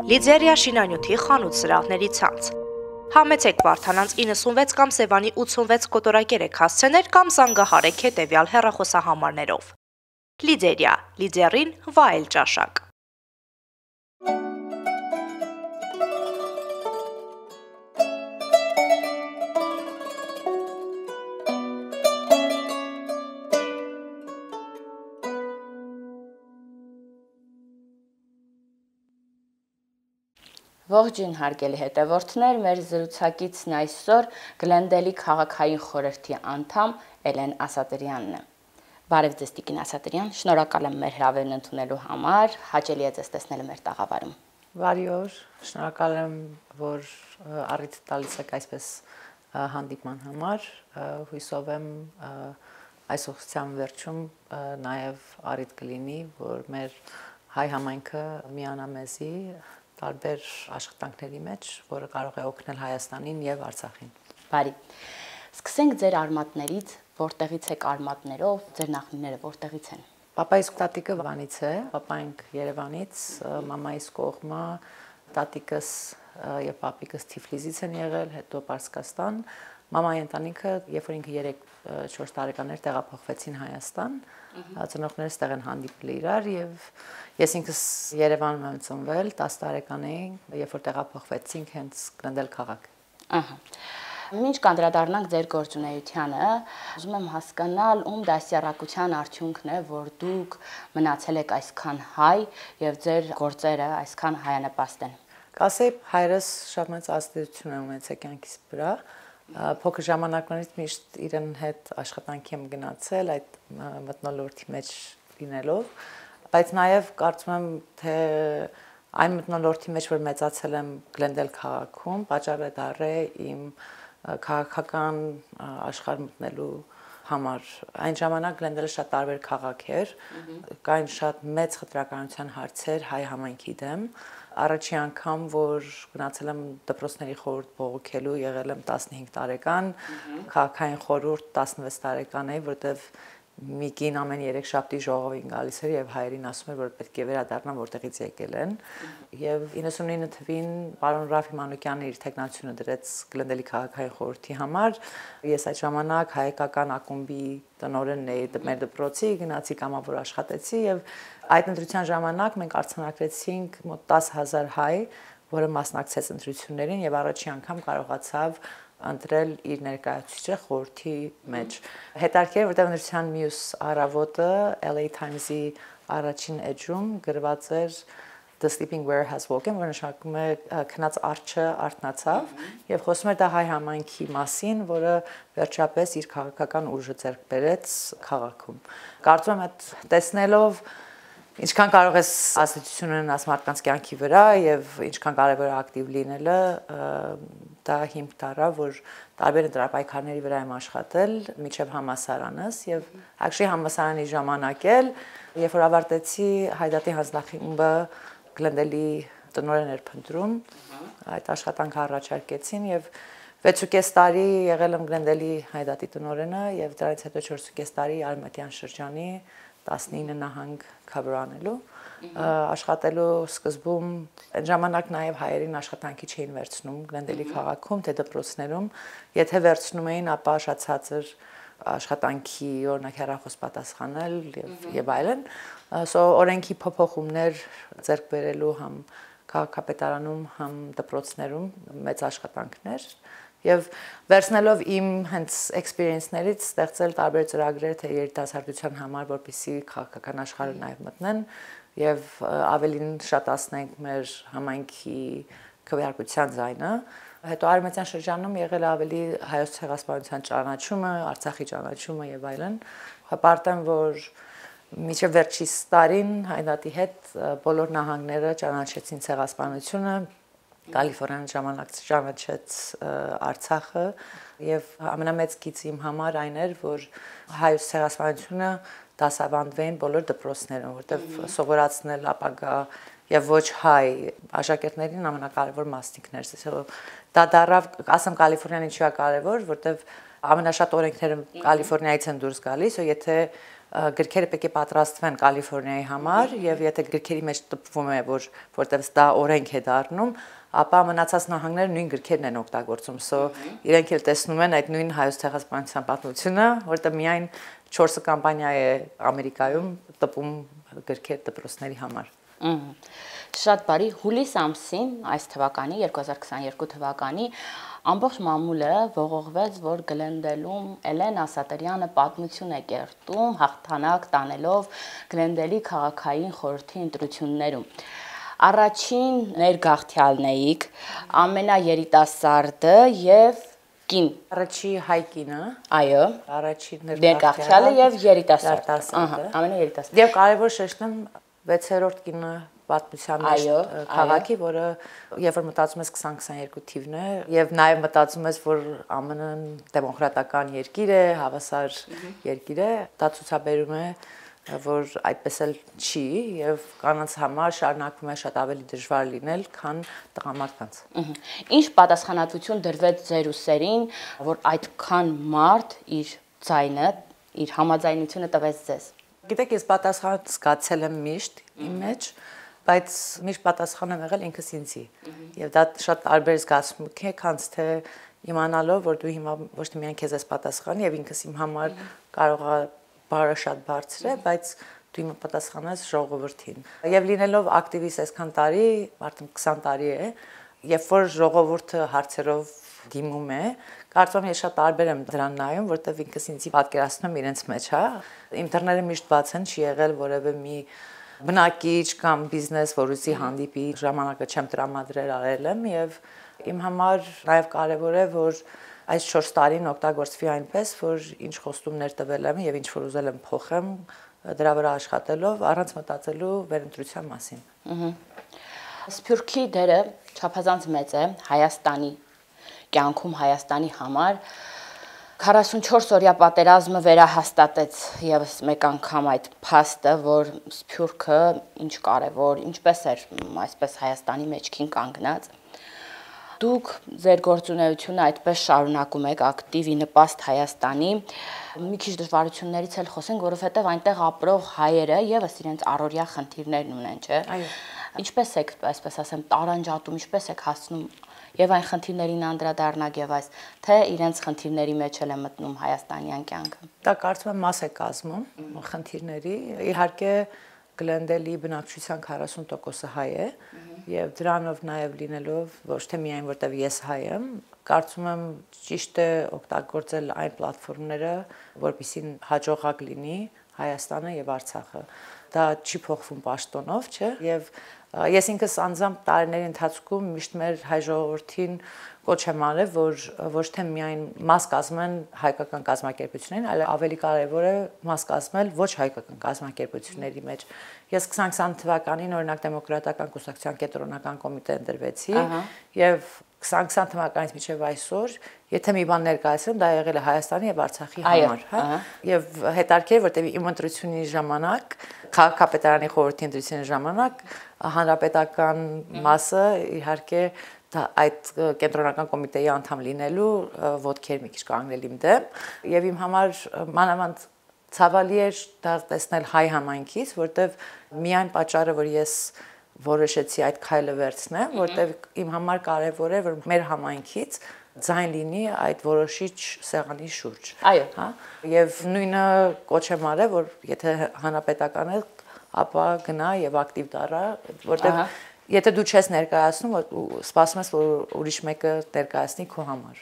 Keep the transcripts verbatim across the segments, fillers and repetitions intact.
Լիձերիա շինանյութի խանութ սրահների ցանց։ Համեցեք Վարդանանց իննսունվեց կամ Սևանի ութսունվեց կոտորակերեք հասցեներ կամ զանգահարեք հետևյալ հեռախոսահամարներով։ Լիձերիա, լիձերին վայել ճաշակ։ Ողջույն հարգելի հետևորդներ, մեր զրուցակիցն այսօր Գլենդելի քաղաքային խորհրդի անդամ Էլեն Ասատրյանն է։ Բարև ձեզ Տիկին Ասատրյան, շնորհակալ եմ մեր հրավերն ընդունելու համար, հաճելի է ձեզ տեսնել մեր տաղավարում։ Բարի օր, շնորհակալ եմ, որ առիթ տալիս եք այսպես հանդիպման համար, հույսով եմ այս ուղղության վերջում նաև առիթ կլինի, որ մեր հայ համայնքը միանա մեզի տարբեր աշխատանքների մեջ, որը կարող է օգնել Հայաստանին եւ Արցախին։ Բարի։ Սկսենք ձեր արմատներից, որտեղից եք արմատներով, ձեր նախնիները որտեղից են։ Պապայիս տատիկը Վանից է, պապայինք Երևանից, մամայիս կողմը տատիկս եւ պապիկս Թիֆլիսից են եղել, հետո Պարսկաստան։ Մամայի ընտանիքը, երբ որ ինքը երեք չորս տարեկան էր, տեղափոխվեցին Հայաստան, ծնողներս տեղ են հանդիպել իրար եւ ես ինքս Երևանում եմ ծնվել, տասը տարեկան էի, երբ որ տեղափոխվեցինք հենց Գլենդել քաղաք։ Ահա։ Մինչ կանդրադառնանք ձեր գործունեությանը, ուզում եմ հասկանալ, ում դասյարակության արդյունքն է, որ դուք մնացել եք այսքան հայ եւ ձեր գործերը այսքան հայանպաստ են։ Կասեի, հայրս շատ մեծ ազդեցություն է ունեցել կյանքիս վրա։ Փոքր ժամանակներից միշտ իրեն հետ աշխատանքի եմ գնացել այդ մթնոլորտի մեջ լինելով, բայց նաև կարծում եմ, թե այն մթնոլորտի մեջ, որ մեծացել եմ Գլենդել քաղաքում, պատճառ է դառել իմ քաղաքական աշխարհ մտնելու համար։ Այն ժամանակ Գլենդելը շատ տարբեր քաղաք էր, կային շատ մեծ խտրականության հարցեր հայ համայնքի դեմ։ Առաջի անգամ, որ գնացել եմ դպրոցների խորհուրդ բողոքելու, եղել եմ տասնհինգ տարեկան, քաղաքային խորհուրդ տասնվեց տարեկան էի, որտեվ մի կին ամեն երեք շաբթի ժողովին գալիս էր եւ հայերին ասում էր, որ պետք է վերադառնան, որտեղից եկել են։ Եվ իննսունինը թվին պարոն Ռաֆի Մանուկյանը իր թեկնածությունը դրեց Գլենդելի քաղաքային խորհրդի համար։ Ես այդ ժամանակ հայկական ակումբի տնօրենն էի մեր դպրոցի, գնացի կամավոր աշխատեցի եւ այդ ընտրության ժամանակ մենք արձանագրեցինք մոտ տասը հազար հայ, որը մասնակցեց ընտրություններին եւ առաջի անգամ կարողացավ ընտրել իր ներկայացուցիչը խորհրդի մեջ։ Հետարքեր, որտեղ ընտրության մյուս առավոտը L A Times-ի առաջին էջում գրված էր The sleeping bear has woken, որը նշանակում է քնած արջը արթնացավ եւ խոսում էր դա հայ համայնքի մասին, որը վերջապես իր քաղաքական ուժը ձեռք բերեց քաղաքում։ Կարծում եմ այդ տեսնելով ինչքան կարող ես ազդեցություն ունենալ մարդկանց կյանքի վրա եւ ինչքան կարեւոր է ակտիվ լինելը, դա հիմք դառավ, որ տարբեր ընտրապայքարների վրա եմ աշխատել միջև համասարանս եւ actually համասարանի ժամանակ էլ, երբ որ ավարտեցի Հայդատի հանձնախումբը Գլենդելի տնօրեն էր փնտրում, այդ աշխատանքը առաջարկեցին եւ վեցուկես տարի եղել եմ Գլենդելի Հայդատի տնօրենը եւ դրանից հետո չորսուկես տարի Արմատյան շրջանի տասնինը նահանգ cover անելու, աշխատելու սկզբում այն ժամանակ նաև հայերին աշխատանքի չէին վերցնում Գլենդելի քաղաքում, թե դպրոցներում, եթե վերցնում էին, ապա շատ ցածր աշխատանքի օրինակ հեռախոս պատասխանել եւ եւ այլն, so օրենքի փոփոխումներ ձեռք բերելու համ քաղաքապետարանում, համ դպրոցներում մեծ աշխատանքներ Եվ վերցնելով իմ հենց experience-ներից ստեղծել տարբեր ծրագրեր թե երիտասարդության համար, որպեսզի քաղաքական աշխարհը նաև մտնեն եւ ավելին շատացնենք մեր համայնքի քվեարկության ձայնը։ Հետո Արմենիան շրջանում եղել ավելի հայոց ցեղասպանության ճանաչումը, Արցախի ճանաչումը եւ այլն։ Հպարտեմ, որ մինչև վերջիս տարին Հայդատի հետ բոլոր նահանգները ճանաչեցին ցեղասպանությունը Կալիֆոռնիան ժամանակ ճանաչեց Արցախը եւ ամենամեծ գիծը իմ համար այն էր, որ հայոց ցեղասպանությունը դասավանդվեն բոլոր դպրոցներում, որտեղ սովորացնել ապագա եւ ոչ հայ աշակերտներին ամենակարևոր մասնիկներ է։ Դա դառավ, ասեմ Կալիֆոռնիան ինչու է կարևոր, որտեղ ամենաշատ օրենքները Կալիֆոռնիայից են դուրս գալիս, ու եթե գրքերը պետք է պատրաստվեն Կալիֆոռնիայի համար եւ եթե գրքերի մեջ տպվում է որ որտեղ դա օրենք է դառնում, ապա մնացած նահանգները նույն գրքերն են օգտագործում։ So իրենք էլ տեսնում են այդ նույն հայոց ցեղասպանության պատմությունը, որտեղ միայն չորսը կամպանիա է Ամերիկայում տպում գրքեր դպրոցների համար։ Շատ բարի, հուլիս ամսին այս թվականի երկու հազար քսաներկու թվականի ամբողջ մամուլը ողողվեց, որ Գլենդելում Էլեն Ասատրյանը պատմություն է կերտում, հաղթանակ տանելով Գլենդելի քաղաքային խորհրդի ընտրություններում։ Առաջին ներգաղթյալն էիք, ամենաերիտասարդը եւ կին։ Առաջի հայ կինը, այո, առաջին ներգաղթյալը եւ երիտասարդը, ահա, ամենաերիտասարդը։ Եվ կարևոր շեշտեմ վեցերորդ կինը պատմության մեջ քաղաքի, որը երբ որ մտածում ես քսան քսաներկու թիվն է եւ նաեւ մտածում ես, որ ԱՄՆ-ն դեմոկրատական երկիր է, հավասար երկիր է, դա ցուցաբերում է, որ այդպես էլ չի եւ կանանց համար շարունակվում է շատ ավելի դժվար լինել, քան տղամարդկանց։ Ինչ պատասխանատվություն դրվեց ձեր ուսերին, որ այդքան մարդ իր ձայնը, իր համաձայնությունը տվեց ձեզ։ Գիտեք, ես պատասխան զգացել եմ միշտ իմ մեջ, բայց միշտ պատասխան եմ եղել ինքս ինձի։ Եվ դա շատ տարբեր զգացմունք է, քանց թե իմանալով, որ դու հիմա ոչ թե միայն քեզ ես պատասխանի եւ ինքս իմ համար կարող է բարը շատ բարձր է, բայց դու հիմա պատասխանես ժողովրդին։ Եվ լինելով ակտիվիստ այսքան տարի, արդեն քսան տարի է, երբ որ ժողովուրդը հարցերով դիմում է, կարծում եմ ես շատ տարբեր եմ դրան նայում, որտեվ ինքս ինձի պատկերացնում իրենց մեջ, հա։ Իմ դռները միշտ բաց են, չի եղել որևէ մի բնակիչ կամ բիզնես, որ ուզի հանդիպի, ժամանակը չեմ տրամադրել արել եմ եւ իմ համար նաեւ կարեւոր է, որ այս չորս տարին օգտագործվի այնպես, որ ինչ խոստումներ տվել եմ եւ ինչ որ ուզել եմ փոխեմ, դրա վրա աշխատելով, առանց մտածելու վերընտրության մասին։ Սփյուռքի դերը չափազանց մեծ է Հայաստանի կյանքում, Հայաստանի համար։ քառասունչորս օրյա պատերազմը վերահաստատեց եւս մեկ անգամ այդ փաստը, որ Սփյուռքը ինչ կարևոր, ինչպես էր այսպես Հայաստանի մեջքին կանգնած։ Դուք ձեր գործունեությունը այդպես շարունակում եք ակտիվի նպաստ Հայաստանի։ Մի քիչ դժվարություններից էլ խոսենք, որովհետև այնտեղ ապրող հայերը եւս իրենց առօրյա խնդիրներն ունեն, չէ՞։ Այո։ Ինչպես եք, այսպես ասեմ, տարանջատում, ինչպես եք հասնում եւ այն խնդիրներին անդրադառնալ եւ այս, թե իրենց խնդիրների մեջ էլ է մտնում հայաստանյան կյանքը։ Դա կարծում եմ մաս է կազմում խնդիրների։ Իհարկե Գլենդելի բնակչության քառասուն տոկոսը հայ է եւ դրանով նաեւ լինելով ոչ թե միայն որտեվ ես հայ եմ, կարծում եմ ճիշտ է օգտագործել այն պլատֆորմները, որպեսզի հաջողակ լինի Հայաստանը եւ Արցախը։ Դա չի փոխվում պաշտոնով, չէ՞։ Եվ ես ինքս անձամբ տարիների ընթացքում միշտ մեր հայ ժողովրդին կոչ եմ արել, որ ոչ թե միայն մաս կազմեն հայկական կազմակերպություններին, այլ ավելի կարևոր է մաս կազմել ոչ հայկական կազմակերպությունների մեջ։ Ես քսան քսան թվականին օրինակ դեմոկրատական կուսակցության կենտրոնական կոմիտե ընտրվեցի եւ քսան քսան թվականից մինչև այսօր, եթե մի բան ներկայացրեմ, դա եղել է Հայաստանի եւ Արցախի համար, հա։ Եվ հետարքեր, որտեղ իմ ընտրությունների ժամանակ, քաղաքապետարանի խորհրդի ընտրությունների ժամանակ հանրապետական մասը իհարկե այդ կենտրոնական կոմիտեի անդամ լինելու ոտքեր մի քիչ կանգնել իմ դեմ եւ իմ համար մանավանդ ցավալի էր դա տեսնել հայ համայնքից, որտեղ միայն պատճառը, որ ես որոշեցի այդ քայլը վերցնեմ, որտեղ իմ համար կարևոր է, որ մեր համայնքից ձայն լինի այդ որոշիչ սեղանի շուրջ։ Այո, հա։ Եվ նույնը կոչ եմ արել, որ եթե հանրապետական է, ապա գնա եւ ակտիվ դառա, որտեղ եթե դու չես ներկայացնում, սպասում ես, որ ուրիշ մեկը ներկայացնի քո համար։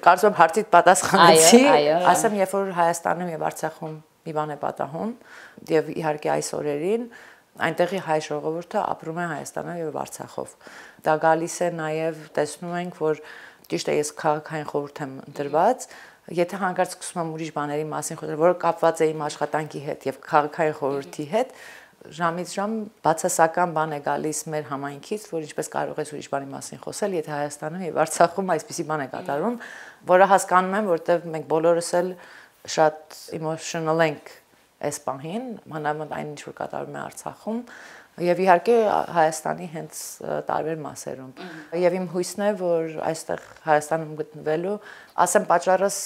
Կարծում եմ հարցիդ պատասխանեցի, ասեմ, երբ որ Հայաստանում եւ Արցախում մի բան է պատահում, եւ իհարկե այս օրերին այնտեղի հայ ժողովուրդը ապրում է Հայաստանում եւ Արցախով։ Դա գալիս է նաեւ տեսնում ենք, որ ճիշտ է ես քաղաքային խորհուրդ եմ ընտրված, եթե հանկարծ սկսում եմ ուրիշ բաների մասին խոսել, որը կապված է իմ աշխատանքի հետ եւ քաղաքային խորհրդի հետ, ժամից ժամ բացասական բան է գալիս մեր համայնքից, որ ինչպես կարող ես ուրիշ բանի մասին խոսել, եթե Հայաստանում եւ Արցախում այսպիսի բան է կատարվում, որը հասկանում եմ, որտեղ մենք բոլորս էլ շատ emotional ենք այս պահին, մանավանդ այն ինչ որ կատարվում է Արցախում, Եվ իհարկե Հայաստանի հենց տարբեր մասերում։ Եվ իմ հույսն է, որ այստեղ Հայաստանում գտնվելու, ասեմ պատճառս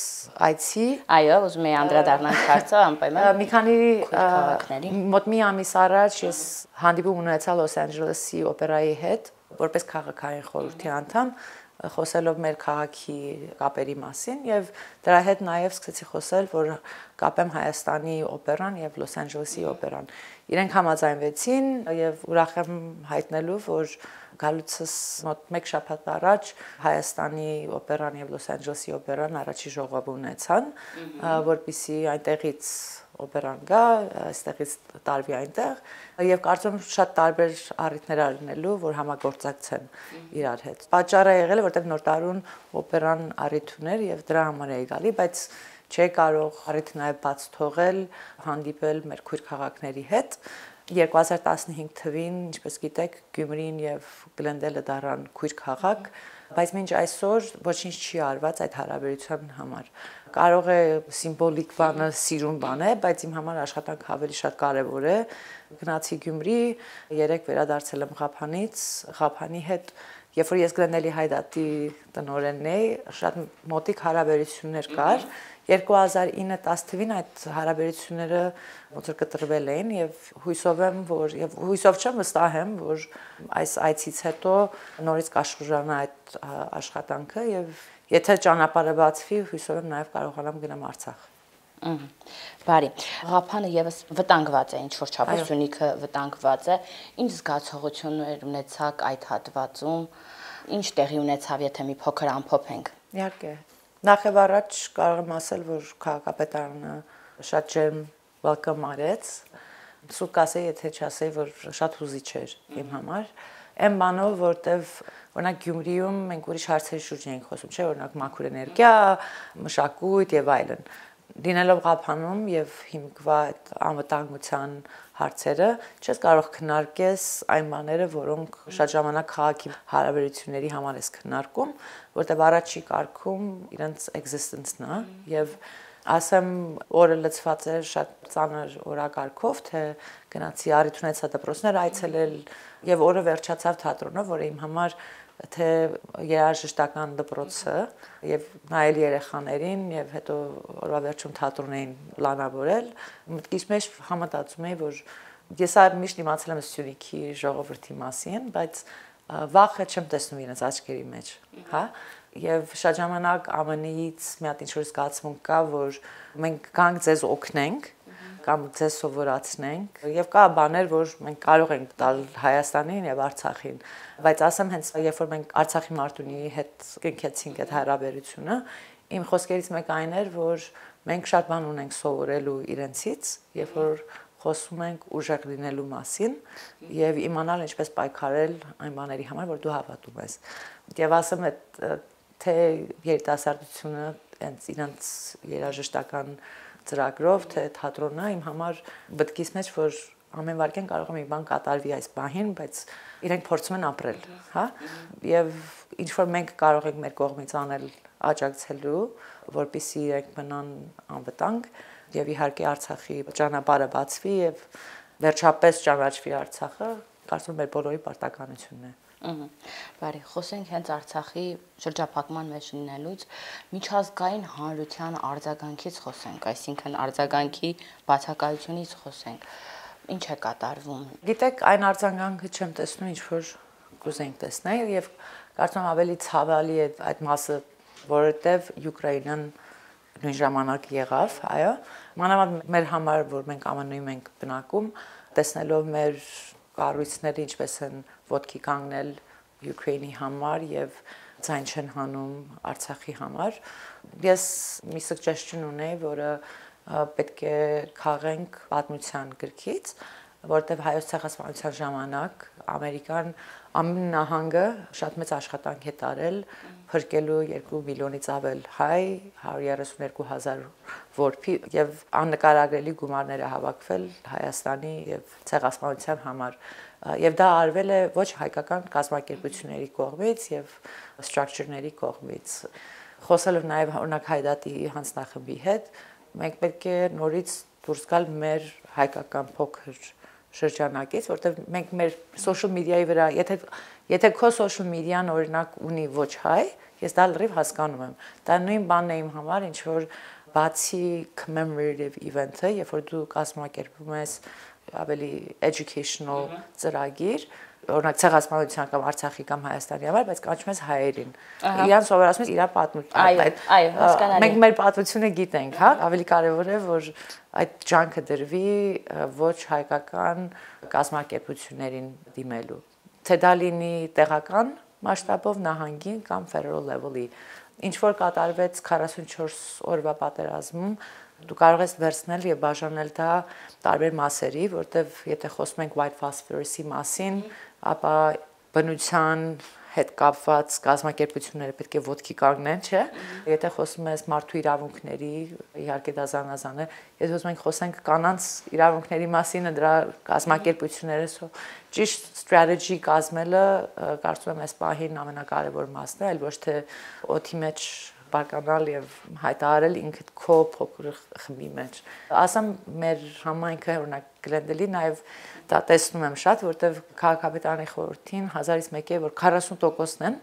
այցի, այո, ուզում եի անդրադառնալ հարցը անպայման։ Մի քանի քաղաքների մոտ մի ամիս առաջ ես հանդիպում ունեցա Լոս Անջելեսի օպերայի հետ, որպես քաղաքային խորհրդի անդամ, խոսելով մեր քաղաքի կապերի մասին եւ դրա հետ նաեւ սկսեցի խոսել, որ կապեմ Հայաստանի օպերան եւ Լոս Անջելեսի օպերան։ Իրենք համաձայնվեցին եւ ուրախ եմ հայտնելու, որ գալուցս մոտ մեկ շաբաթ առաջ Հայաստանի օպերան եւ Լոս Անջելեսի օպերան առաջի ժողով ունեցան, որպեսզի այնտեղից օպերան գա, այստեղից տարվի այնտեղ եւ կարծում եմ շատ տարբեր առիթներ առնելու, որ համագործակցեն իրար հետ։ Պատճառը եղել է, որտեղ նոր տարուն օպերան առիթ ուներ եւ դրա համար էի գալի, բայց չէի կարող առիթը նաեւ բաց թողել, հանդիպել մեր քույր քաղաքների հետ։ երկու հազար տասնհինգ թվին, ինչպես գիտեք, Գյումրին եւ Գլենդելը դառան քույր քաղաք, բայց մինչ այսօր ոչինչ չի արված այդ հարաբերության համար։ Կարող է սիմվոլիկ բանը, սիրուն բան է, բայց իմ համար աշխատանքը ավելի շատ կարևոր է։ Գնացի Գյումրի, երեք վերադարձել եմ Ղափանից, Ղափանի հետ, երբ որ ես Գլենդելի հայդատի տնօրենն էի, շատ մոտիկ հարաբերություններ կար։ երկու հազար ինը տասը թվին այդ հարաբերությունները ոնց որ կտրվել էին եւ հույսով եմ, որ եւ հույսով չեմ վստահ եմ, որ այս այցից հետո նորից կաշխուժանա այդ աշխատանքը եւ եթե ճանապարհը բացվի, հույսով եմ նաեւ կարողանամ գնամ Արցախ։ Բարի, Ղափանը եւս վտանգված է, ինչ որ չափով Սյունիքը վտանգված է։ Ինչ զգացողություններ ունեցաք այդ հատվածում, ինչ տեղի ունեցավ, եթե մի փոքր ամփոփենք։ Իհարկե։ Նախ եւ առաջ կարող եմ ասել, որ քաղաքապետարանը շատ ջերմ welcome արեց։ Սուկ ասեի, եթե չասեի, որ շատ հուզիչ էր իմ համար։ Այն բանով, որտեվ օրինակ Գյումրիում մենք ուրիշ հարցերի շուրջ էինք խոսում, չէ՞, օրինակ մաքուր էներգիա, մշակույթ եւ այլն։ Լինելով Ղափանում եւ հիմքված անվտանգության հարցերը, չես կարող քննարկես այն բաները, որոնք շատ ժամանակ քաղաքի հարաբերությունների համար ես քննարկում, որտեղ առաջի կարգում իրենց existence-ն է եւ ասեմ օրը լցված էր շատ ծանր օրակարգով, թե գնացի առիթ ունեցա դպրոցներ այցելել եւ օրը վերջացավ թատրոնով, որը իմ համար թե երաժշտական դպրոցը եւ նայել երեխաներին եւ հետո օրվա վերջում թատրոն էին պլանավորել, մտքիս մեջ համատացում էի, որ ես այլ միշտ իմացել եմ Սյունիքի ժողովրդի մասին, բայց վախը չեմ տեսնում իրենց աչքերի մեջ, հա։ Եվ շատ ժամանակ ԱՄՆ-ից մի հատ ինչ-որ զգացմունք կա, որ մենք գանք ձեզ օգնենք կամ ձեզ սովորացնենք եւ կա բաներ, որ մենք կարող ենք տալ Հայաստանին եւ Արցախին, բայց ասեմ հենց երբ որ մենք Արցախի մարտունիի հետ կնքեցինք այդ հարաբերությունը, իմ խոսքերից մեկը այն էր, որ մենք շատ բան ունենք սովորելու իրենցից, երբ որ խոսում ենք ուժեղ լինելու մասին եւ իմանալ ինչպես պայքարել այն բաների համար, որ դու հավատում ես։ Եվ ասեմ այդ թե երիտասարդությունը հենց իրենց երաժշտական ծրագրով, թե թատրոնը իմ համար բտկիս մեջ, որ ամեն վարքեն կարող է մի բան կատարվի այս պահին, բայց իրենք փորձում են ապրել, հա։ Եվ ինչ որ մենք կարող ենք մեր կողմից անել աջակցելու, որպեսզի իրենք մնան անվտանգ եւ իհարկե Արցախի ճանապարհը բացվի եւ վերջապես ճանաչվի Արցախը, կարծում եմ մեր բոլորի պարտականությունն է։ Բարի, խոսենք հենց Արցախի շրջափակման մեջ լինելուց, միջազգային հանրության արձագանքից խոսենք, այսինքն արձագանքի բացակայությունից խոսենք։ Ինչ է կատարվում։ Գիտեք, այն արձագանքը չեմ տեսնում, ինչ որ կուզենք տեսնել եւ կարծում եմ ավելի ցավալի է այդ մասը, որովհետեւ Ուկրաինան նույն ժամանակ եղավ, այո։ Մանավանդ մեր համար, որ մենք ԱՄՆ-ում ենք բնակում, տեսնելով մեր կառույցները ինչպես են ոտքի կանգնել Ուկրաինի համար եւ ցայն չեն հանում Արցախի համար։ Ես մի suggestion ունեի, որը պետք է քաղենք պատմության գրքից, որտեղ հայոց ցեղասպանության ժամանակ Ամերիկան ամեն նահանգը շատ մեծ աշխատանք է տարել փրկելու երկու միլիոնից ավել հայ, հարյուր երեսունյոթ հազար որբի եւ աննկարագրելի գումարներ է հավաքվել Հայաստանի եւ ցեղասպանության համար եւ դա արվել է ոչ հայկական կազմակերպությունների կողմից եւ structure-ների կողմից խոսելով նաեւ օրինակ հայդատի հանձնախմբի հետ մենք պետք է նորից դուրս գալ մեր հայկական փոքր շրջանակից, որտեղ մենք մեր social media-ի վրա, եթե եթե քո social media-ն օրինակ ունի ոչ հայ, ես դա լրիվ հասկանում եմ։ Դա նույն բանն է իմ համար, ինչ որ բացի commemorative event-ը, երբ որ դու կազմակերպում ես ավելի educational ծրագիր, օրինակ ցեղասպանության կամ Արցախի կամ Հայաստանի համար, բայց կանչում ես հայերին։ Իրան սովորացնում ես իր պատմությունը։ Այո, այո, հասկանալի։ Մենք մեր պատմությունը գիտենք, հա, ավելի կարևոր է, որ այդ ջանքը դրվի ոչ հայկական կազմակերպություններին դիմելու։ Թե դա լինի տեղական մասշտաբով նահանգին կամ federal level-ի։ Ինչ որ կատարվեց քառասունչորս օրվա պատերազմում, դու կարող ես վերցնել եւ բաժանել դա տարբեր մասերի, որտեվ եթե խոսում ենք white phosphorus-ի մասին, ապա բնության հետ կապված կազմակերպությունները պետք է ոտքի կանգնեն, չէ՞։ Եթե խոսում ես մարդու իրավունքների, իհարկե դա զանազան է, եթե խոսում ենք խոսենք կանանց իրավունքների մասին, դրա կազմակերպությունները, ճիշտ strategy կազմելը, կարծում եմ այս պահին ամենակարևոր մասն է, այլ ոչ թե օդի մեջ բարկանալ եւ հայտարարել ինքդ քո փոքր խմբի մեջ։ Ասեմ մեր համայնքը օրինակ Գլենդելի նաեւ դա տեսնում եմ շատ, որտեվ քաղաքապետարանի խորհրդին հազարից մեկ է որ քառասուն տոկոսն են,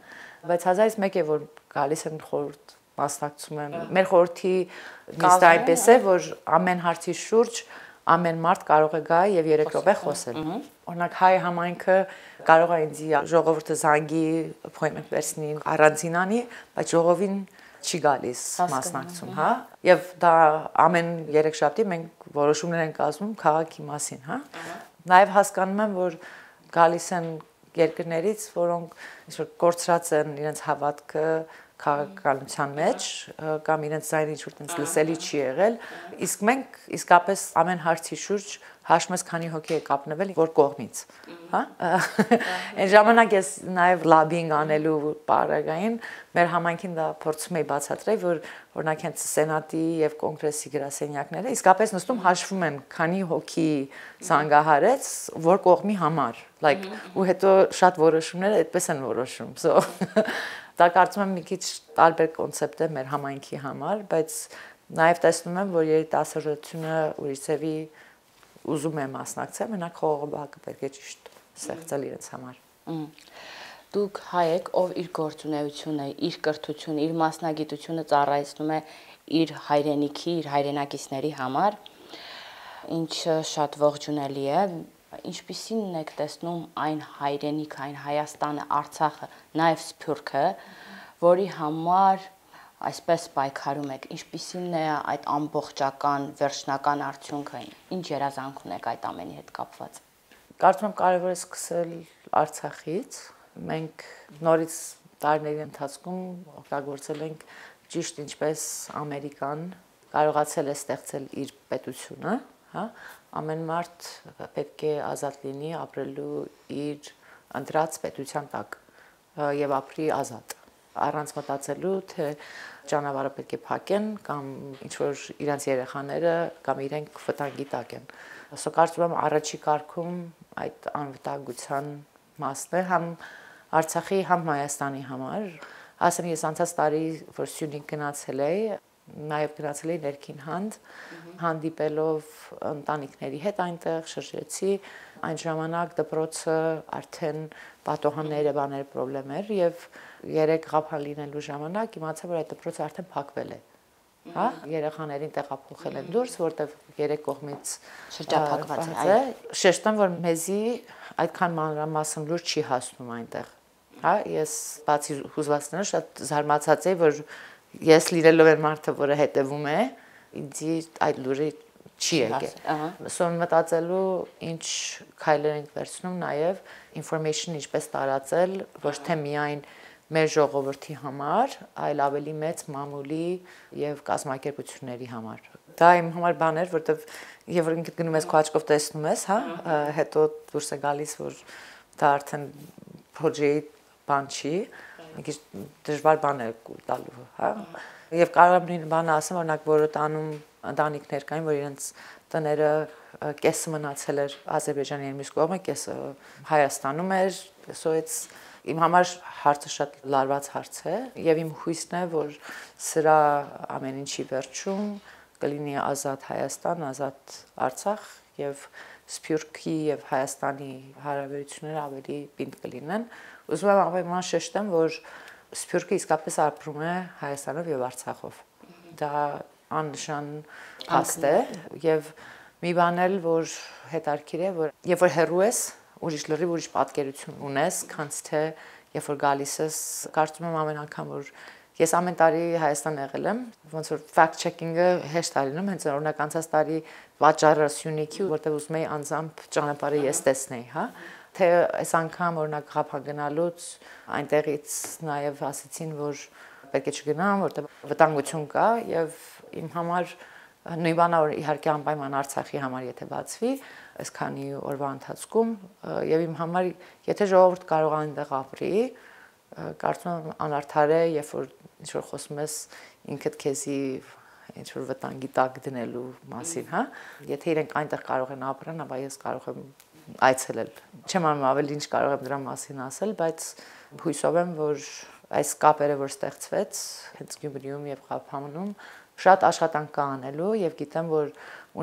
բայց հազարից մեկ է որ գալիս են խորհուրդ մասնակցում են։ Մեր խորհրդի նիստը այնպես է, որ ամեն հարցի շուրջ ամեն մարդ կարող է գա եւ երեք րոպե խոսել։ Օրինակ հայ համայնքը կարող է ինձ ժողովուրդը զանգի appointment վերցնի առանձինանի, բայց ժողովին չի գալիս մասնակցում, հա։ Եվ դա ամեն երեքշաբթի մենք որոշումներ ենք կազմում քաղաքի մասին, հա։ Նաև հասկանում եմ, որ գալիս են երկրներից, որոնք ինչ-որ կորցրած են իրենց հավատքը քաղաքականության մեջ կամ իրենց ձայնը ինչ-որ տենց լսելի չի եղել, իսկ մենք իսկապես ամեն հարցի շուրջ հաշվում ես քանի հոգի է կապնվել որ կողմից, հա։ Այն ժամանակ ես նաև լաբինգ անելու պարագային մեր համայնքին դա փորձում էի բացատրել, որ օրինակ հենց սենատի եւ կոնգրեսի գրասենյակները իսկապես նստում հաշվում են քանի հոգի զանգահարեց որ կողմի համար, like ու հետո շատ որոշումները այդպես են որոշում, so դա կարծում եմ մի քիչ տարբեր կոնցեպտ է մեր համայնքի համար, բայց նաև տեսնում եմ, որ երիտասարդությունը ուրիշ ձևի ուզում է մասնակցել, մենակ խաղողը պետք է ճիշտ ստեղծել իրենց համար։ Դուք հայ եք, ով իր գործունեությունը, իր կրթությունը, իր մասնագիտությունը ծառայեցնում է իր հայրենիքի, իր հայրենակիցների համար, ինչը շատ ողջունելի է։ Ինչպիսին եք տեսնում այն հայրենիքը, այն Հայաստանը, Արցախը, նաև Սփյուռքը, որի համար այսպես պայքարում եք, ինչպիսին է այդ ամբողջական վերջնական արդյունքը, ինչ երազանք ունեք այդ ամենի հետ կապված։ Կարծում եմ կարևոր է սկսել Արցախից։ Մենք նորից տարիների ընթացքում օգտագործել ենք ճիշտ ինչպես Ամերիկան կարողացել է ստեղծել իր պետությունը, հա, ամեն մարդ պետք է ազատ լինի ապրելու իր ընտրած պետության տակ եւ ապրի ազատ, առանց մտածելու թե ճանապարհը պետք է փակեն կամ ինչ որ իրենց երեխաները կամ իրենք վտանգի տակ են։ Սա կարծում եմ առաջի կարգում այդ անվտանգության մասն է համ Արցախի, համ Հայաստանի համար։ Ասեմ ես անցած տարի որ Սյունիք գնացել էի, նաև գնացել էի ներքին հանդ, հանդիպելով ընտանիքների հետ այնտեղ շրջեցի, այն ժամանակ դպրոցը արդեն պատոհանները բաներ պրոբլեմեր եւ երեք ղափան լինելու ժամանակ իմացա որ այդ դպրոցը արդեն փակվել է, հա, երեխաներին տեղափոխել են դուրս, որտեղ երեք կողմից շրջափակված է։ Շեշտեմ որ մեզի այդքան մանրամասն լուր չի հասնում այնտեղ, հա, ես բացի հուզվածներով շատ զարմացած եի որ ես լինելով եմ մարդը, որը հետևում է, ինձ այդ լուրը չի եկել։ Սոն մտածելու ինչ քայլեր ենք վերցնում, նաև information ինչպես տարածել, ոչ թե միայն մեր ժողովրդի համար, այլ ավելի մեծ մամուլի եւ կազմակերպությունների համար։ Դա իմ համար բան էր, որտեվ եւ որ ինքդ գնում ես քո աչքով տեսնում ես, հա, հետո դուրս է գալիս, որ դա արդեն project բան չի, մի քիչ դժվար բան է տալու, հա։ Եվ կարող եմ նույն բանը ասեմ, օրինակ որը տանում ընտանիքներ կային, որ իրենց տները կեսը մնացել էր Ադրբեջանի եւ մյուս կողմը, կեսը Հայաստանում էր, so it's իմ համար հարցը շատ լարված հարց է եւ իմ հույսն է, որ սրա ամեն ինչի վերջում կլինի ազատ Հայաստան, ազատ Արցախ եւ Սփյուռքի եւ Հայաստանի հարաբերությունները ավելի պինդ կլինեն։ Ուզում եմ ամենայն շեշտեմ, որ Սփյուռքը իսկապես ապրում է Հայաստանով եւ Արցախով։ Դա աննշան փաստ է եւ մի բան էլ, որ հետաքրքիր է, որ երբ որ հեռու ես, ուրիշ լրիվ ուրիշ պատկերություն ունես, քանց թե երբ որ գալիս ես, կարծում եմ ամեն անգամ որ ես ամեն տարի Հայաստան եղել եմ, ոնց որ fact checking-ը հեշտ է լինում, հենց օրինակ անցած տարի վաճառը Սյունիքի, որտեղ ուզում էի անձամբ ճանապարհը ես տեսնեի, հա, թե այս անգամ օրինակ Ղափան գնալուց այնտեղից նաև ասեցին, որ պետք է չգնամ, որտեղ վտանգություն կա եւ իմ համար նույն բանը որ իհարկե անպայման Արցախի համար եթե բացվի, այսքանի օրվա ընթացքում եւ իմ համար եթե ժողովուրդ կարող է այնտեղ ապրի, կարծում եմ անարդար է, երբ որ ինչ որ խոսում ես ինքդ քեզի ինչ որ վտանգի տակ դնելու մասին, հա։ Եթե իրենք այնտեղ կարող են ապրեն, ապա ես կարող եմ այցելել։ Չեմ անում ավելի ինչ կարող եմ դրա մասին ասել, բայց հույսով եմ, որ այս կապերը որ ստեղծվեց հենց Գյումրիում եւ Ղափանում շատ աշխատանք կա անելու եւ գիտեմ, որ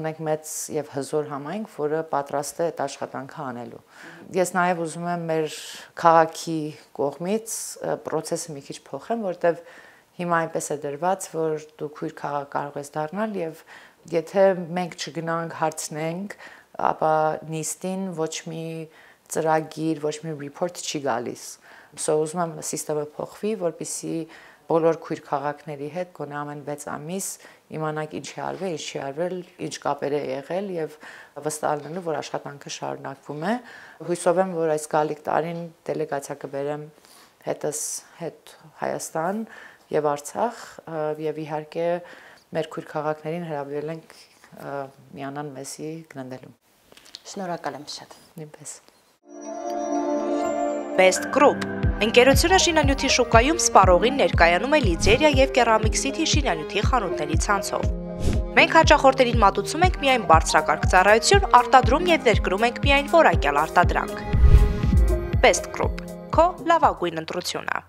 ունենք մեծ եւ հզոր համայնք, որը պատրաստ է այդ աշխատանքը անելու։ Ես նաեւ ուզում եմ մեր քաղաքի կողմից process-ը մի քիչ փոխեմ, որտեւ հիմա այնպես է դրված, որ դու քույր քաղաք կարող ես դառնալ եւ եթե մենք չգնանք հարցնենք, ապա նիստին ոչ մի ծրագիր, ոչ մի report չի գալիս։ So ուզում եմ համակարգը փոխվի, որպեսզի բոլոր քույր քաղաքների հետ գոնե ամեն վեց ամիս իմանանք ինչ է արվել, ինչ չի արվել, ինչ կապեր է եղել եւ վստահ լինելու, որ աշխատանքը շարունակվում է։ Հույսով եմ, որ այս գալիք տարին դելեգացիա կբերեմ հետս հետ Հայաստան եւ Արցախ եւ իհարկե մեր քույր քաղաքներին հրավիրել ենք միանան մեզի գնալու։ Շնորհակալ եմ շատ։ Նույնպես։ Best Group ընկերությունը շինանյութի շուկայում սպառողին ներկայանում է լիձերիա եւ կերամիկ սիթի շինանյութի խանութների ցանցով։ Մենք հաճախորդներին մատուցում ենք միայն բարձրակարգ ծառայություն, արտադրում եւ ներկրում ենք միայն որակյալ արտադրանք։ Best Group, քո լավագույն ընտրությունը։